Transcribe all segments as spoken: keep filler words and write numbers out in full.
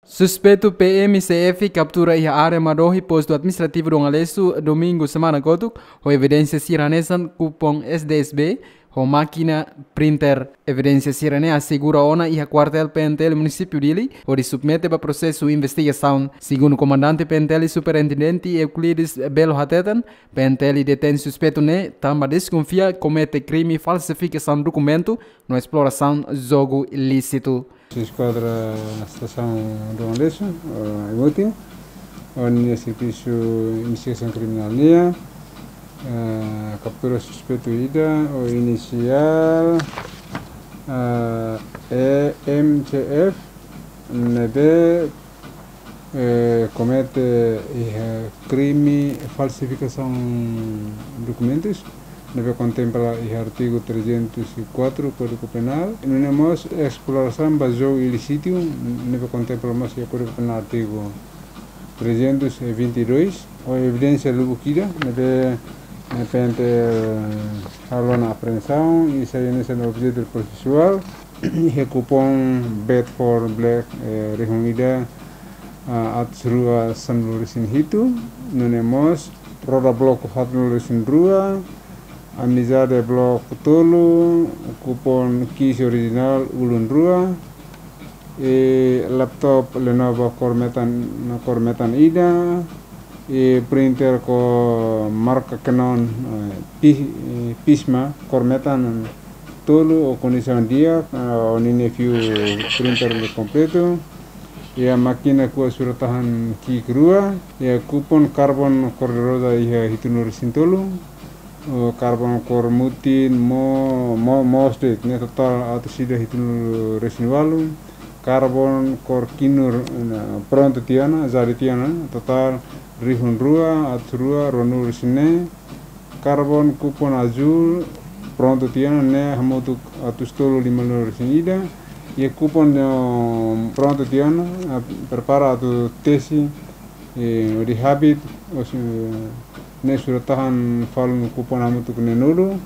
Suspeitu P M C F kaptura iha área Madohi, postu administrativu Dom Aleixo, domingu semana kotuk, ho evidénsia sira hanesan kupon S D S B, ho mákina printer. Evidénsia sira-ne'e asegura ona iha kuartél P N T L munisípiu Dili, hodi submete ba prosesu investigasaun. Segundu komandante P N T L, Superintendente Euclides Belo hateten, P N T L detein suspeitu ne'e tanba deskonfia komete krime falsifikasaun dokumentu no esplorasaun jogu ilísitu. Eskuadra Estasaun Dom Aleixo, eh, Aimutin, ho ninia servisu investigasaun kriminál nian, eh, kaptura suspeitu ida ho inisiál, eh, E M C F, ne'ebé, eh, komete iha krime falsifikasaun dokumentus, ne'ebé kontempla iha artigu trezentos e quatro Kódigu Penál. Nune'e mós esplorasaun ba jogu ilísitu, ne'ebé kontempla mós iha Kódigu Penál artigu trezentos e vinte e dois. Ho evidénsia lubuk ida, ne'ebé, eh, P N T L halo ona apreensaun, i sai hanesan objetu prosesuál, iha kupon Bedford Black, eh, rihun ida, ah, atus rua sanulu resin hitu, nune'e mós roda bloku haatnulu resin rua, Amizade bloku tolu, kupon case orijinál ulun rua, i laptop Lenovo kór metan, kór metan ida, i printer ho marka Canon, eh, Pi-, eh, Pisma kór metan tolu ho kondisaun di'ak, eh, ho ninia fiu printer ne'e kompletu. Iha mákina kuas surat-tahan ki'ik rua, iha kupon karbon kór de roza iha hitunulu resin tolu, eh, karbon kór mutin, mo-, mo-, moos de'it, ne'e totál atus ida hitunulu resin ualu, karbon kór kinur, eh, prontu tiha ona, jadi tiha ona, totál rihun rua, atus rua, ruanulu resin neen, karbon kupon azúl, prontu tiha ona, ne'e hamutuk atus tolu limanulu resin ida, i kupon, eh, prontu tiha ona, eh, prepara atu tesi, eh, hodi habit, os, eh, ne'e surat-tahan falun kupon hamutuk neenulu,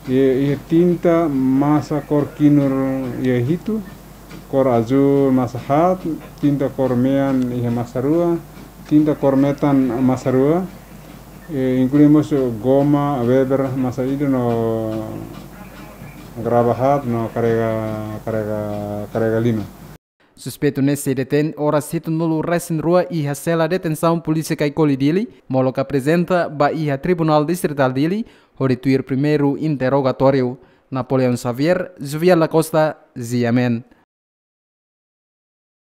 i, i tinta masa kór kinur iha hitu, kór azúl masa haat, tinta kór mean iha masa rua, tinta kór metan masa rua, eh, inklui mós goma Weber masa ida no graba haat no karega, karega, karega lima. Suspeitu ne'e sei detein oras hitunulu resin rua iha sela detensaun Polísia Caicoli Dili, molok aprezenta ba iha Tribunál Distritál Dili, hodi tuir primeiru interrogatóriu. Napoleão Xavier, Jovial da Costa, G M N.